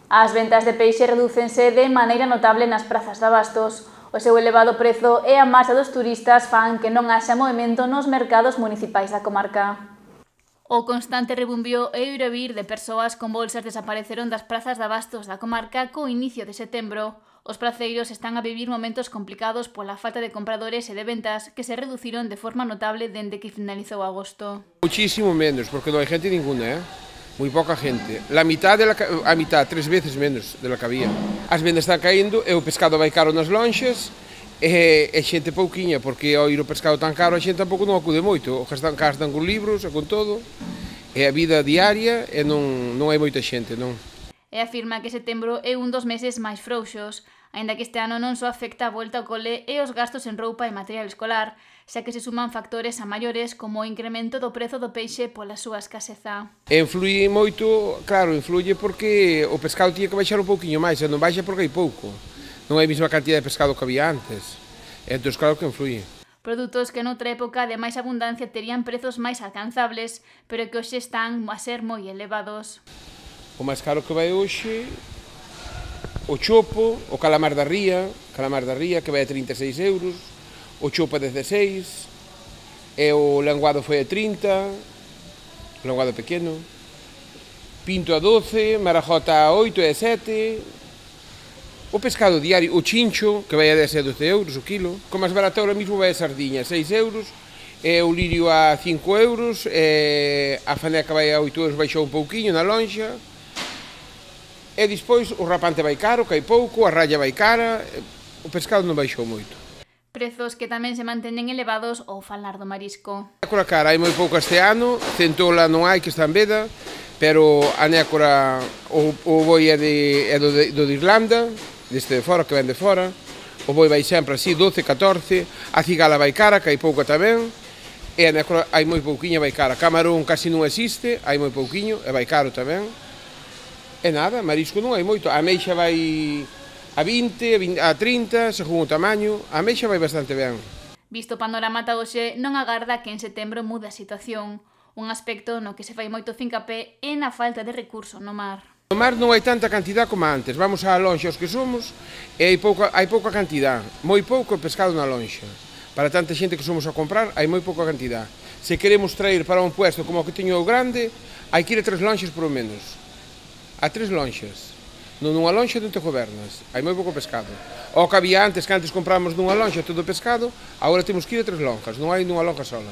As ventas de peixe redúcense de maneira notable nas prazas de abastos. O seu elevado prezo e a marcha dos turistas fan que non haxa movimento nos mercados municipais da comarca. O constante rebumbio e o ir e vir de persoas con bolsas desapareceron das prazas de abastos da comarca co inicio de setembro. Os praceiros están a vivir momentos complicados pola falta de compradores e de ventas que se reduciron de forma notable dende que finalizou agosto. Muchísimo menos, porque non hai gente ninguna, moi poca gente. A mitad, 3 veces menos de la que había. As vendas están caíndo e o pescado vai caro nas lonxas e xente pouquiña, porque ao ir o pescado tan caro a xente tampouco non acude moito. O gastan con libros e con todo, é a vida diaria e non hai moita xente, non. E afirma que setembro é un dos meses máis frouxos, aínda que este ano non só afecta a volta ao cole e os gastos en roupa e material escolar, xa que se suman factores a maiores como o incremento do prezo do peixe pola súa escaseza. Influye moito, claro, influye porque o pescado tiña que baixar un pouquiño máis, e non baixa porque hai pouco. Non hai a mesma cantidad de pescado que había antes. Entón, claro que influye. Produtos que noutra época de máis abundancia terían prezos máis alcanzables, pero que hoxe están a ser moi elevados. O máis caro que vai hoxe, o chopo, o calamar da ría que vai a 36 euros, o chopo a 16, e o lenguado foi a 30, o lenguado pequeno, pinto a 12, marajota a 8 e a 7, o pescado diario, o chincho, que vai a 10 e 12 euros o kilo, o máis barato ahora mismo vai a sardiña, 6 euros, e o lirio a 5 euros, e a faneca vai a 8 euros, baixou un pouquiño na lonxa. E despois o rapante vai caro, que hai pouco, a raya vai cara, o pescado non baixou moito. Prezos que tamén se manteñen elevados ao falar do marisco. A nécora cara hai moi pouco este ano, centola non hai que está en veda, pero a nécora, o boi é do de Irlanda, deste de fora, que ven de fora, o boi vai sempre así, 12, 14, a cigala vai cara, que hai pouco tamén, e a nécora hai moi pouquiña, vai cara. Camarón casi non existe, hai moi pouquiño, e vai caro tamén. E nada, marisco non hai moito. A ameixa vai a 20, a 30, según o tamaño. A ameixa vai bastante ben. Visto o panorama ata hoxe, non agarda que en setembro mude a situación. Un aspecto no que se fai moito fincapé é na falta de recurso no mar. No mar non hai tanta cantidad como antes. Vamos á lonxa os que somos e hai pouca cantidad. Moi pouco pescado na lonxa. Para tanta xente que somos a comprar, hai moi pouca cantidad. Se queremos traer para un puesto como o que teño o grande, hai que ir a 3 lonxas por lo menos. A 3 lonxas. Nunha lonxa non te gobernas, hai moi pouco pescado. O que había antes, que antes compramos nunha lonxa todo o pescado, agora temos que ir a 3 lonjas, non hai nunha lonja sola.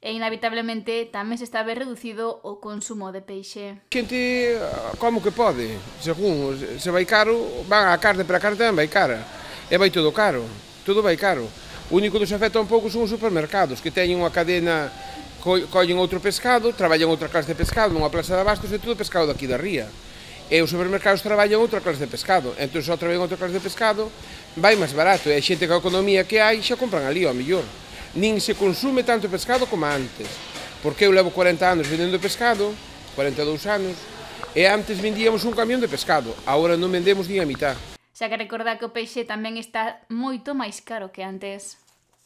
E inevitablemente tamén se está a ver reducido o consumo de peixe. A xente, como que pode? Según, se vai caro, van a carne, pero a carne tamén vai cara. E vai todo caro, todo vai caro. O único que nos afecta un pouco son os supermercados, que teñen unha cadena, collen outro pescado, traballan outra clase de pescado nunha plaza de abastos e todo pescado daqui da ría. E os supermercados traballan outra clase de pescado, entón só traballan outra clase de pescado, vai máis barato, e a xente que a economía que hai xa compran ali, ao mellor. Nin se consume tanto pescado como antes, porque eu levo 40 anos vendendo pescado, 42 anos, e antes vendíamos un camión de pescado, agora non vendemos nin a mitad. Xa que recordar que o peixe tamén está moito máis caro que antes.